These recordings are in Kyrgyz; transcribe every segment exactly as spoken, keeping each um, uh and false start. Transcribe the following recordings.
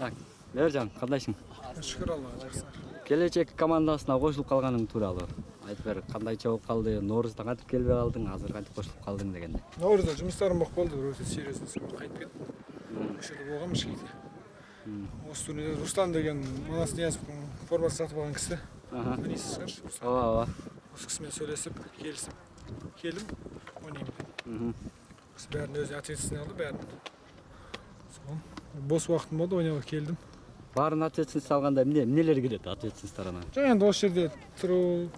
Так, Мээржан, кандайсың? Шүкүр Аллага, жакшы. Келечек командасына кошулуп калганың тууралуу айтып бер, кандайча болуп калды? Ноорузда кантип келбей калдың, азыр кантип кошулуп калдың дегенде. Ноорузда жумуштарым болуп калды, өтө серьезный кайтып кеттим. Ошол жерде болгом ишкейде. Осы турнирде Рустам деген Манас Ниязовдун формасын сатып алган киши. Танисызсыздар? Ооба, ооба. Осы киши менен сүйлөшүп, келишип келдим, ойнойм деп. Киши бәрін өзү ответственный алды, бәрін. Сол. Бос убактым болду, ойногого келдим. Баарын ответственность алганда эмне, эмнелер кирет ответственностьтар анан? Жана энд ошол жерде туруу,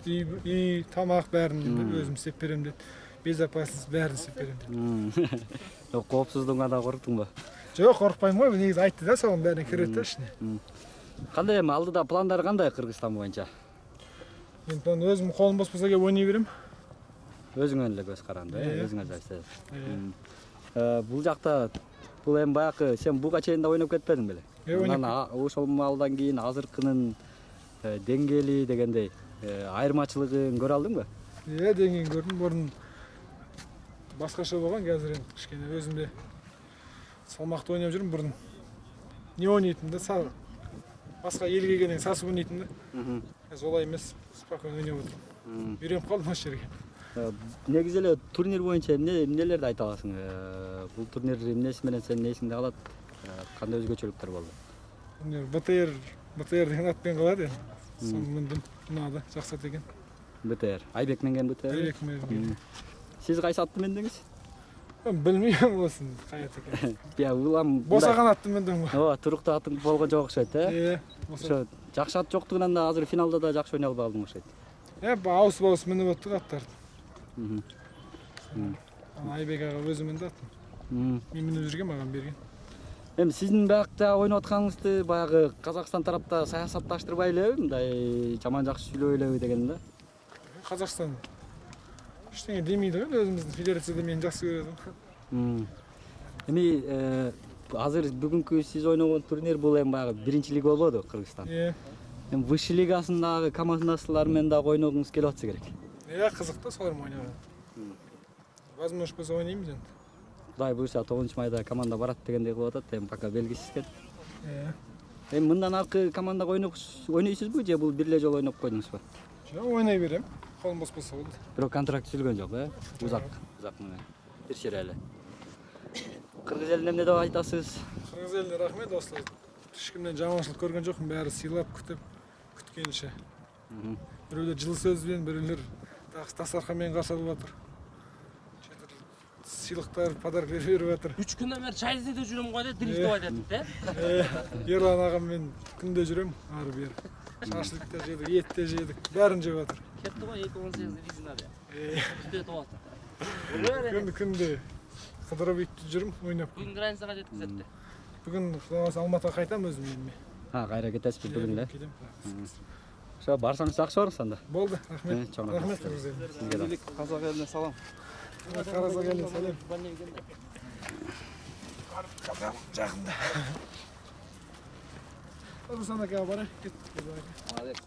үй, тамак бәрін өзүм істеп берем деп. Безопасность бәрін істеп берем деп. Коопсуздугуңа да корктуңбу? Жок, коркпойм го, негизи айтты да, сонун бәрин кирет да ишине. Кандай эми алдыда пландар кандай Кыргызстан боюнча? Мен өзүм колум бос болсо келип ойной берем. Өзүңө эле көз каранды, өзүңө жайсыз. Бул жакта бул эми баягы сен буга чейин да ойноп кетпедиң беле? Анан ошол маалдан кийин азыркынын деңгээли дегендей айырмачылыгын көрө алдыңбы? Э, деңгээлин көрдүм. Мурун башкача болгон, азыр эми кичкене өзүмдө салмакты ойноп жүрүм. Мурун не ойнойтум да, башка элге келгенден сасып ойнойтум да. Азыр олай эмес, спокойно ойноп отурум. Үйрөнүп калдым ошол жерге. Негизи эле турнир боюнча эмнелерди айта аласың? Бул турнир эмнеси менен сенин эсиңде калат? Кандай өзгөчөлүктөр болду? БТР, БТР деген ат менен калат эми. Сону мындым, унаады, жакшы ат экен. БТР, Айбек менген БТР? Айбек менген. Сиз кайсы атты мендиңиз? Билбейм болсун, кай ат экен. Я улам босаган атты мендим го. Ооба, туруктуу атың болгон жок окшойт, э? Э, ошо жакшы ат жоктугунан да азыр финалда да жакшы ойной албай калдың окшойт. Э, ауысып ауысып минип аттык аттарды. Айбек ага өзү минди атын. Мен минип жүргөм, мага берген. Эми сиздин биякта ойноп атканыңызды баягы Казакстан тарапта саясатташтырбай элеби, мындай жаман жакшы сүйлөбөй элеби деген да? Казакстан эчтене демейди го, өзүбүздүн федерацияда мени жакшы көрөт. Эми азыр бүгүнкү сиз ойногон турнир бул эми баягы биринчи лига болбоду Кыргызстан? Э. Эми высший лигасындагы командалаштар менен дагы ойногуңуз келип атса керек. Э, кызык да, солар менен ойногон. Возможность болсо ойнойбуз энд. Кудай буйрса тогузунчу майда команда барат дегендей кылып атат, эми пока белгисиз экен. Э. Эми мындан аркы командага ойнойсузбу же бул бир эле жолу ойноп койдуңузбу? Жок, ойной берем. Колум бос болсо болду. Бирок контракт түзүлгөн жок, э? Узак, узак менен. Бир шере эле. Кыргыз элине эмне деп айтасыз? Кыргыз элине рахмет, достор. Эч кимден жаманчылык көргөн жокмун, баары сыйлап, күтүп, күткөнүчө. Бирөөлөр жылы сөз менен, бирөөлөр дастаркан менен каршы алып атыр. Сыйлыктар, подарок берип атыр. үч күндөн бери чай іздеде жүрөм го деп дрифтовать этип, э? Ерлан агам менен күндө жүрөм, ары бери. Шашлык да жедик, эт да жедик, баарын жеп атыр. Кетти го эки он сегиз резина деп. Э, күтүп атат. Күндө күндө кыдырып үйтүп жүрүм, ойноп. Бүгүн границага жеткизет деп. Бүгүн Кудайга Алматыга кайтам өзүм эми. Ha, кайра кетесизби бүгүн эле? Кетем. Ошо барсаңыз жакшы болор анда. Болду, рахмет. Чоң Рахмет сизге. Сизге да. Казак элине салам. Казак элине салам. Казак жакында. Рустам ака, барайык, кеттик.